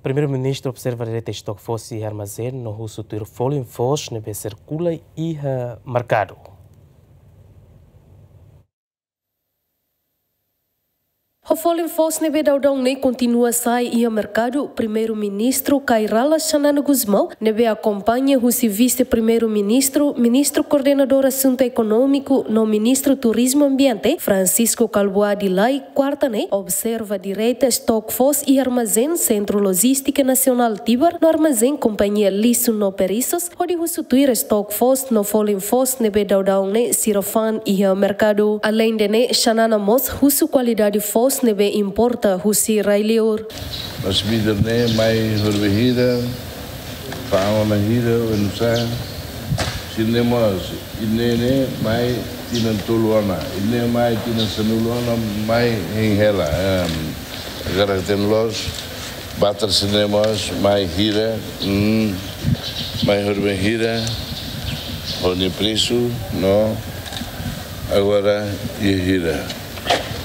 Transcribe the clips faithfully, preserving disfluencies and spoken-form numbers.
Primeiru-Ministru observa direta estok foos iha armazén no husu tuir folin foos ne'ebé sirkula iha merkadu. Ho folin foos ne'ebé daudaun ne'e kontinua sa'e iha merkadu, Primeiru-Ministru Kay Rala Xanana Gusmão, ne'ebé akompaña husi Vise-Primeiru-Ministru, Ministru Koordenadór Asuntu Ekonómiku no Ministru Turizmu Ambiente, Francisco Kalbuadi Lay, kuarta ne'e, observa direta estok foos iha armazén Sentru Lojístika Nasionál Tibar no armazén Kompañia Lixus no Perissos, hodi husu tuir estok foos no folin foos ne'ebé daudaun ne'e sira fa'an iha merkadu. Aleinde ne'e, Xanana mós husu kualidade foos ne'ebé importa husi rai-liur. Mas bider ne'e mai horibainhira, fa'an ona hira, oinsá, sira-ne'e mós, ida-ne'e mai tinan tolu ona, ida-ne'e mai tinan sanulu ona, mai hein hela, em, agora tem loos, batar sira-ne'e mós, mai hira, hmm, mai horibainhira, ho nia presu, no, agora iha hira.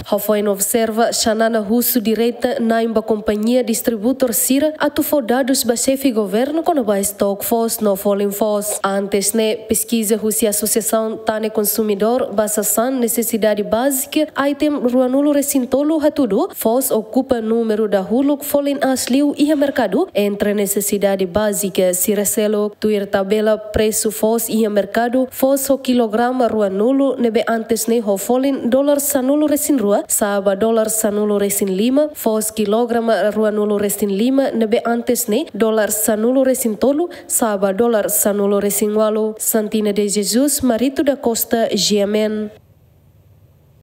Hafoin observa, Xanana husu direta na'in ba kompañia distribuidór sira atu fó dadus ba xefe governu kona-ba estok foos no folin foos. Antes ne'e, peskiza husi Asosiasaun Tane Konsumidór ba sasán nesesidade bázika, item ruanulu resin tolu hatudu, foos okupa númeru dahuluk folin aas liu iha merkadu entre nesesidade bázika sira seluk. Tuir tabela presu foos iha merkadu, foos ho kilograma ruanulu ne'ebé antes ne'e ho folin dolar sanulu resin rua, sa'e ba dolar sanulu resin lima, foos kilograma ruanulu resin lima ne'ebé antes ne'e dolar sanulu resin tolu, sa'e ba dolar sanulu resin ualu. Santina de Jesus, Marito da Costa, G M N.